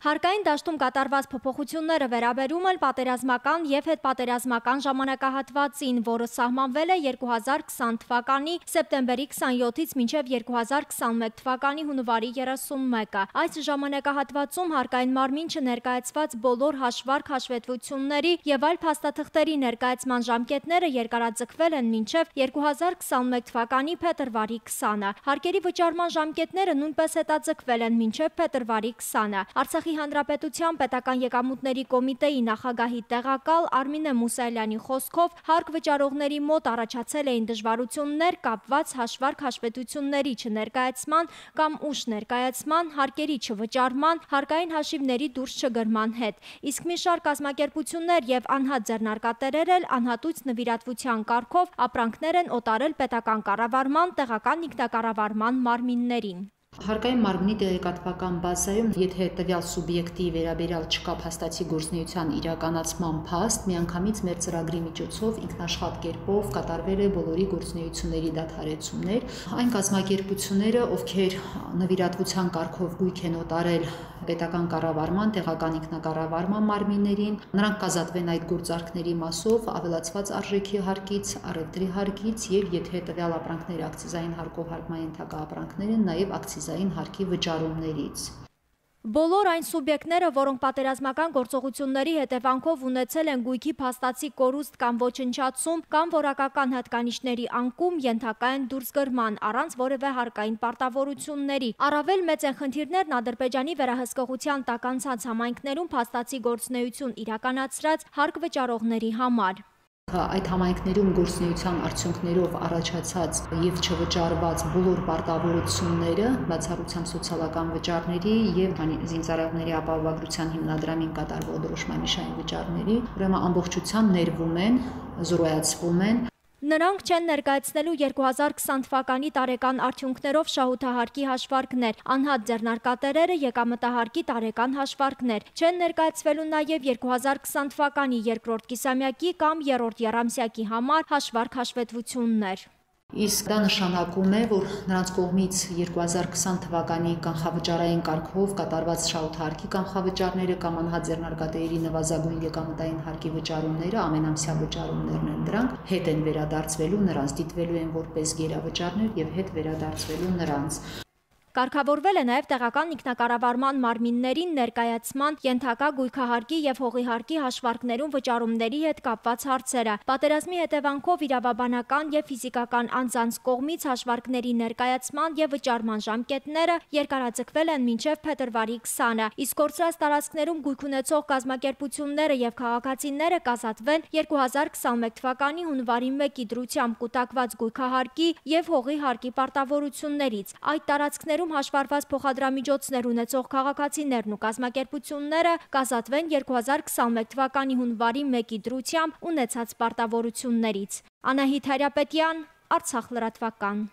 Հարկային դաշտում կատարված փոփոխությունները վերաբերում են պատերազմական և հետպատերազմական ժամանակահատվածին, որը սահմանվել է 2020 թվականի սեպտեմբերի 27-ից մինչև 2021 թվականի հունվարի 31-ը։ Այս ժամանակահատվածում հարկային մարմին չներկայացված բոլոր հաշվարկ-հաշվետվությունների և այլ փաստաթղթերի ներկայացման ժամկետները երկարաձգվել են մինչև 2021 թվականի փետրվարի 20-ը։ Հարկերի վճարման ժամկետները նույնպես հետաձգվել են մինչև փետրվարի 20-ը։ Արցախի Հանրապետության պետական եկամուտների կոմիտեի նախագահի տեղակալ Արմինե Մուսայելյանի խոսքով հարկ վճարողների մոտ առաջացել էին դժվարություններ կապված հաշվարկ-հաշվետվությունների չներկայացման կամ ուշ ներկայացման, հարկերի չվճարման, հարկային հաշիվների դուրս չգրման հետ։ Իսկ մի շարք կազմակերպություններ և անհատ ձեռնարկատերեր էլ անհատույց նվիրատվության կարգով ապրանքներ են օտարել պետական կառավարման, տեղական ինքնակառավարման մարմիններին։ Հարկային մարմնի տեղեկատվական բազայում, եթե տվյալ սուբյեկտի վերաբերյալ չկա փաստացի գործունեության իրականացման փաստ, միանգամից մեր ծրագրի միջոցով ինքնաշխատ կերպով կատարվել է բոլորի գործունեությունների դադարեցումներ։ Այն կազմակերպությունները, ովքեր նվիրատվության կարգով գույք են օտարել պետական կառավարման, տեղական ինքնակառավարման մարմիններին, նրանք կազատվեն այդ գործարքների մասով ավելացված արժեքի հարկից, առևտրի հարկից եւ եթե տվյալ ապրանքները ակցիզային հարկով հարկման ենթակա ապրանքներ են, նաեւ ակցիզային հարկի վճարումներից։ Բոլոր այն սուբյեկտները, որոնք պատերազմական գործողությունների հետևանքով ունեցել են գույքի փաստացի կորուստ կամ ոչնչացում կամ որակական հատկանիշների անկում, ենթակա են դուրսգրման առանց որևէ հարկային պարտավորությունների։ Առավել մեծ են խնդիրներն Ադրբեջանի վերահսկողության տակ անցած համայնքներում փաստացի գործունեություն իրականացրած հարկ վճարողների համար։ Այդ համայնքներում գործունեության արդյունքներով առաջացած եւ չվճարված բոլոր պարտավորությունները, բացառությամբ սոցիալական վճարների եւ զինծառայողների ապահովագրության հիմնադրամին կատարվող դրոշմանիշային վճարների, ուրեմն ամբողջությամբ ներվում են, զրոյացվում են։ Նրանք չեն ներկայացնելու 2020 թվականի տարեկան արդյունքներով շահութահարկի հաշվարկներ, անհատ ձեռնարկատերերը եկամտահարկի տարեկան հաշվարկներ, չեն ներկայացվելու նաև 2020 թվականի երկրորդ կիսամյակի կամ երրորդ եռամսյակի համար հաշվարկ-հաշվետվություններ։ Իսկ դա նշանակում է, որ նրանց կողմից 2020 թվականի կանխավճարային կարգով կատարված շահութահարկի կանխավճարները կամ անհատ ձեռնարկատերերի նվազագույն եկամտային հարկի վճարումները, ամենամսյա վճարումներն են դրանք, հետ են վերադարձվելու նրանց, դիտվելու են որպես գերավճարներ եւ հետ վերադարձվելու նրանց։ Կարգավորվել է նաև տեղական ինքնակառավարման մարմիններին ներկայացման, ենթակա գույքահարկի և հողի հարկի հաշվարկներում վճարումների հետ կապված հարցերը։ Պատերազմի հետևանքով իրավաբանական և ֆիզիկական անձանց կողմից հաշվարկների ներկայացման և վճարման ժամկետները երկարաձգվել են մինչև փետրվարի 20-ը, իսկ կորցրած տարածքներում գույք ունեցող կազմակերպությունները և քաղաքացիները կազատվեն 2021 թվականի հունվարի 1-ի դրությամբ կուտակված գույքահարկի և հողի հարկի պարտավորություններից։ Այդ տարածքներում հաշվառված փոխադրամիջոցներ ունեցող քաղաքացիներն ու կազմակերպությունները կազատվեն 2021 թվականի հունվարի 1-ի դրությամբ ունեցած պարտավորություններից։ Անահիտ Հարապետյան, Արցախ լրատվական։